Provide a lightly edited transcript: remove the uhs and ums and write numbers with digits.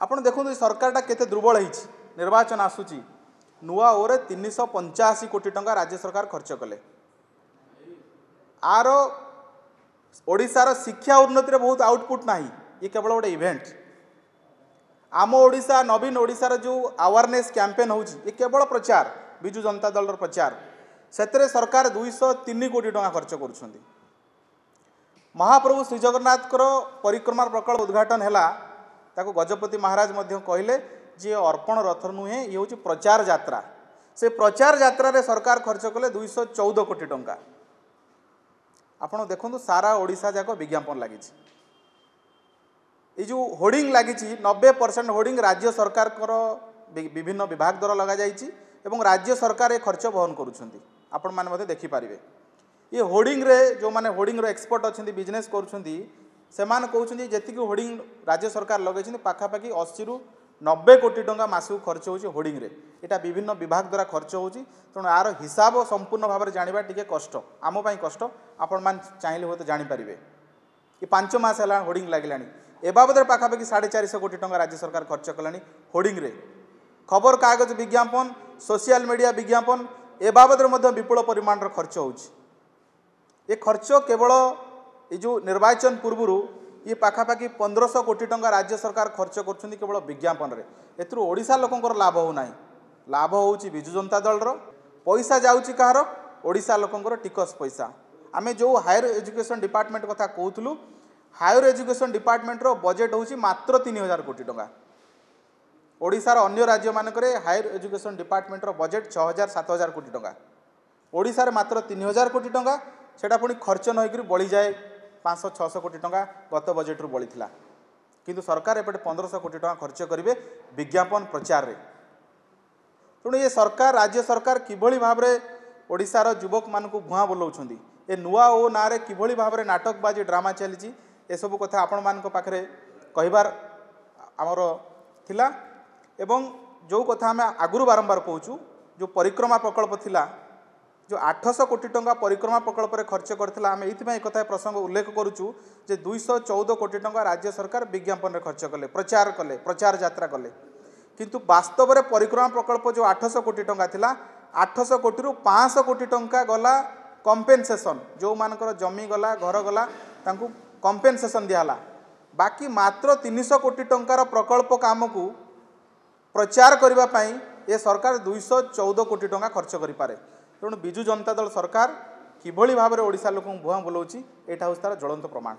ଆପଣ ଦେଖନ୍ତୁ ଏ ସରକାରଟା କେତେ ଦୁର୍ବଳ ହେଇଛି। ନିର୍ବାଚନ ଆସୁଛି, ନୂଆ ଓରେ 385 କୋଟି ଟଙ୍କା ରାଜ୍ୟ ସରକାର ଖର୍ଚ୍ଚ କଲେ। ଆର ଓଡ଼ିଶାର ଶିକ୍ଷା ଉନ୍ନତିରେ ବହୁତ ଆଉଟପୁଟ୍ ନାହିଁ, ଇଏ କେବଳ ଗୋଟେ ଇଭେଣ୍ଟ। ଆମ ଓଡ଼ିଶା ନବୀନ ଓଡ଼ିଶାର ଯେଉଁ ଆୱାରନେସ୍ କ୍ୟାମ୍ପେନ୍ ହେଉଛି, ଏ କେବଳ ପ୍ରଚାର, ବିଜୁ ଜନତା ଦଳର ପ୍ରଚାର। ସେଥିରେ ସରକାର 203 କୋଟି ଟଙ୍କା ଖର୍ଚ୍ଚ କରୁଛନ୍ତି। ମହାପ୍ରଭୁ ଶ୍ରୀଜଗନ୍ନାଥଙ୍କର ପରିକ୍ରମା ପ୍ରକଳ୍ପ ଉଦ୍ଘାଟନ ହେଲା, ତାକୁ ଗଜପତି ମହାରାଜ ମଧ୍ୟ କହିଲେ ଯେ ଅର୍ପଣ ରଥ ନୁହେଁ, ଇଏ ହେଉଛି ପ୍ରଚାର ଯାତ୍ରା। ସେ ପ୍ରଚାର ଯାତ୍ରାରେ ସରକାର ଖର୍ଚ୍ଚ କଲେ 214 କୋଟି ଟଙ୍କା। ଆପଣ ଦେଖନ୍ତୁ ସାରା ଓଡ଼ିଶା ଯାକ ବିଜ୍ଞାପନ ଲାଗିଛି। ଏଇ ଯେଉଁ ହୋର୍ଡ଼ିଂ ଲାଗିଛି, 90% ହୋର୍ଡ଼ିଂ ରାଜ୍ୟ ସରକାରଙ୍କର ବିଭିନ୍ନ ବିଭାଗ ଦ୍ୱାରା ଲଗାଯାଇଛି ଏବଂ ରାଜ୍ୟ ସରକାର ଏ ଖର୍ଚ୍ଚ ବହନ କରୁଛନ୍ତି। ଆପଣମାନେ ମଧ୍ୟ ଦେଖିପାରିବେ। ଏ ହୋର୍ଡ଼ିଂରେ ଯେଉଁମାନେ ହୋର୍ଡ଼ିଂର ଏକ୍ସପର୍ଟ ଅଛନ୍ତି, ବିଜନେସ୍ କରୁଛନ୍ତି, ସେମାନେ କହୁଛନ୍ତି ଯେତିକି ହୋର୍ଡ଼ିଂ ରାଜ୍ୟ ସରକାର ଲଗାଇଛନ୍ତି, ପାଖାପାଖି 80ରୁ 90 କୋଟି ଟଙ୍କା ମାସକୁ ଖର୍ଚ୍ଚ ହେଉଛି ହୋର୍ଡ଼ିଂରେ। ଏଇଟା ବିଭିନ୍ନ ବିଭାଗ ଦ୍ୱାରା ଖର୍ଚ୍ଚ ହେଉଛି। ତେଣୁ ଆର ହିସାବ ସମ୍ପୂର୍ଣ୍ଣ ଭାବରେ ଜାଣିବା ଟିକେ କଷ୍ଟ, ଆମ ପାଇଁ କଷ୍ଟ। ଆପଣମାନେ ଚାହିଁଲେ ହୁଏତ ଜାଣିପାରିବେ। ଏ 5 ମାସ ହେଲା ହୋର୍ଡ଼ିଂ ଲାଗିଲାଣି, ଏ ବାବଦରେ ପାଖାପାଖି 450 କୋଟି ଟଙ୍କା ରାଜ୍ୟ ସରକାର ଖର୍ଚ୍ଚ କଲାଣି ହୋର୍ଡ଼ିଂରେ। ଖବରକାଗଜ ବିଜ୍ଞାପନ, ସୋସିଆଲ ମିଡ଼ିଆ ବିଜ୍ଞାପନ, ଏ ବାବଦରେ ମଧ୍ୟ ବିପୁଳ ପରିମାଣର ଖର୍ଚ୍ଚ ହେଉଛି। ଏ ଖର୍ଚ୍ଚ କେବଳ ଏ ଯେଉଁ ନିର୍ବାଚନ ପୂର୍ବରୁ ଇଏ ପାଖାପାଖି 1500 କୋଟି ଟଙ୍କା ରାଜ୍ୟ ସରକାର ଖର୍ଚ୍ଚ କରୁଛନ୍ତି କେବଳ ବିଜ୍ଞାପନରେ। ଏଥିରୁ ଓଡ଼ିଶା ଲୋକଙ୍କର ଲାଭ ହେଉନାହିଁ, ଲାଭ ହେଉଛି ବିଜୁ ଜନତା ଦଳର। ପଇସା ଯାଉଛି କାହାର? ଓଡ଼ିଶା ଲୋକଙ୍କର ଟିକସ ପଇସା। ଆମେ ଯେଉଁ ହାୟର ଏଜୁକେସନ୍ ଡିପାର୍ଟମେଣ୍ଟ କଥା କହୁଥିଲୁ, ହାୟର ଏଜୁକେସନ୍ ଡିପାର୍ଟମେଣ୍ଟର ବଜେଟ୍ ହେଉଛି ମାତ୍ର 3000 କୋଟି ଟଙ୍କା। ଓଡ଼ିଶାର ଅନ୍ୟ ରାଜ୍ୟମାନଙ୍କରେ ହାୟର ଏଜୁକେସନ୍ ଡିପାର୍ଟମେଣ୍ଟର ବଜେଟ୍ 6000 7000 କୋଟି ଟଙ୍କା, ଓଡ଼ିଶାରେ ମାତ୍ର 3000 କୋଟି ଟଙ୍କା। ସେଟା ପୁଣି ଖର୍ଚ୍ଚ ନ ହେଇକରି ବଳିଯାଏ 500 600 କୋଟି ଟଙ୍କା ଗତ ବଜେଟ୍ରୁ ବଳିଥିଲା। କିନ୍ତୁ ସରକାର ଏପଟେ 1500 କୋଟି ଟଙ୍କା ଖର୍ଚ୍ଚ କରିବେ ବିଜ୍ଞାପନ ପ୍ରଚାରରେ। ତେଣୁ ଏ ସରକାର, ରାଜ୍ୟ ସରକାର କିଭଳି ଭାବରେ ଓଡ଼ିଶାର ଯୁବକମାନଙ୍କୁ ଭୁଆଁ ବୁଲାଉଛନ୍ତି, ଏ ନୂଆ ଓ ନାଁରେ କିଭଳି ଭାବରେ ନାଟକବାଜି ଡ୍ରାମା ଚାଲିଛି, ଏସବୁ କଥା ଆପଣମାନଙ୍କ ପାଖରେ କହିବାର ଆମର ଥିଲା। ଏବଂ ଯେଉଁ କଥା ଆମେ ଆଗରୁ ବାରମ୍ବାର କହୁଛୁ, ଯେଉଁ ପରିକ୍ରମା ପ୍ରକଳ୍ପ ଥିଲା, ଯେଉଁ 800 କୋଟି ଟଙ୍କା ପରିକ୍ରମା ପ୍ରକଳ୍ପରେ ଖର୍ଚ୍ଚ କରିଥିଲା, ଆମେ ଏଇଥିପାଇଁ ଏକଥା ପ୍ରସଙ୍ଗ ଉଲ୍ଲେଖ କରୁଛୁ ଯେ 214 କୋଟି ଟଙ୍କା ରାଜ୍ୟ ସରକାର ବିଜ୍ଞାପନରେ ଖର୍ଚ୍ଚ କଲେ, ପ୍ରଚାର କଲେ, ପ୍ରଚାର ଯାତ୍ରା କଲେ। କିନ୍ତୁ ବାସ୍ତବରେ ପରିକ୍ରମା ପ୍ରକଳ୍ପ ଯେଉଁ 800 କୋଟି ଟଙ୍କା ଥିଲା, 800 କୋଟିରୁ 500 କୋଟି ଟଙ୍କା ଗଲା କମ୍ପେନସେସନ୍, ଯେଉଁମାନଙ୍କର ଜମି ଗଲା, ଘର ଗଲା, ତାଙ୍କୁ କମ୍ପେନସେସନ୍ ଦିଆହେଲା। ବାକି ମାତ୍ର 300 କୋଟି ଟଙ୍କାର ପ୍ରକଳ୍ପ କାମକୁ ପ୍ରଚାର କରିବା ପାଇଁ ଏ ସରକାର 214 କୋଟି ଟଙ୍କା ଖର୍ଚ୍ଚ କରିପାରେ। ତେଣୁ ବିଜୁ ଜନତା ଦଳ ସରକାର କିଭଳି ଭାବରେ ଓଡ଼ିଶା ଲୋକଙ୍କୁ ଭୁଆଁ ବୁଲାଉଛି, ଏଇଟା ହେଉଛି ତା'ର ଜ୍ୱଳନ୍ତ ପ୍ରମାଣ।